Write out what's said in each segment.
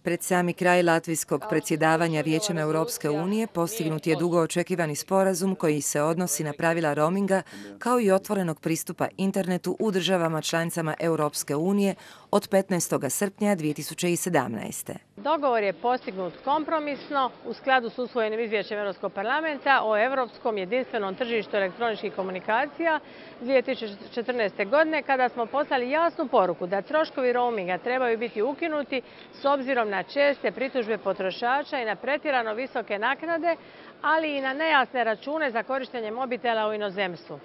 Pred sami kraj latvijskog predsjedavanja Vijećem Europske unije postignut je dugo očekivani sporazum koji se odnosi na pravila roaminga kao i otvorenog pristupa internetu u državama članicama Europske unije od 15. srpnja 2017. Dogovor je postignut kompromisno u skladu s usvojenim izvješćem Europskog parlamenta o europskom jedinstvenom tržištu elektroničkih komunikacija 2014. godine, kada smo poslali jasnu poruku da troškovi roaminga trebaju biti ukinuti s obzirom na česte pritužbe potrošača i na pretjerano visoke naknade, ali i na nejasne račune za korištenje mobitela u inozemstvu.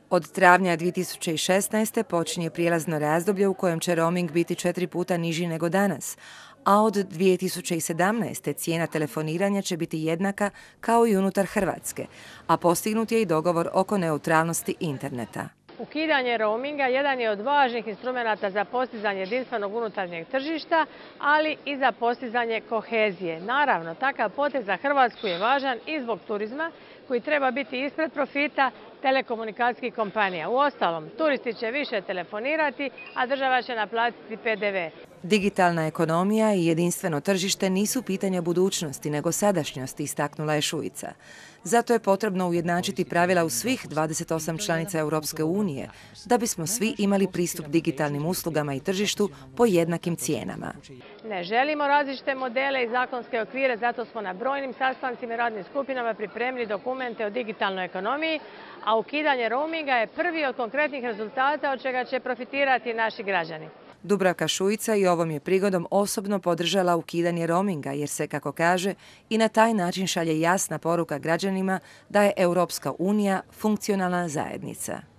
Od travnja 2016. počinje prijelazno razdoblje u kojem će roaming biti 4 puta niži nego danas, a od 2017. cijena telefoniranja će biti jednaka kao i unutar Hrvatske, a postignut je i dogovor oko neutralnosti interneta. Ukidanje roaminga jedan je od važnih instrumenata za postizanje jedinstvenog unutarnjeg tržišta, ali i za postizanje kohezije. Naravno, takav potez za Hrvatsku je važan i zbog turizma, koji treba biti ispred profita telekomunikacijskih kompanija. Uostalom, turisti će više telefonirati, a država će naplatiti PDV. Digitalna ekonomija i jedinstveno tržište nisu pitanja budućnosti, nego sadašnjosti, istaknula je Šuica. Zato je potrebno ujednačiti pravila u svih 28 članica Europske unije, da bismo svi imali pristup digitalnim uslugama i tržištu po jednakim cijenama. Ne želimo različite modele i zakonske okvire, zato smo na brojnim sastancima i radnim skupinama pripremili dokumente o digitalnoj ekonomiji, a ukidanje roaminga je prvi od konkretnih rezultata od čega će profitirati naši građani. Dubravka Šuica i ovom je prigodom osobno podržala ukidanje roaminga jer se, kako kaže, i na taj način šalje jasna poruka građanima da je Europska unija funkcionalna zajednica.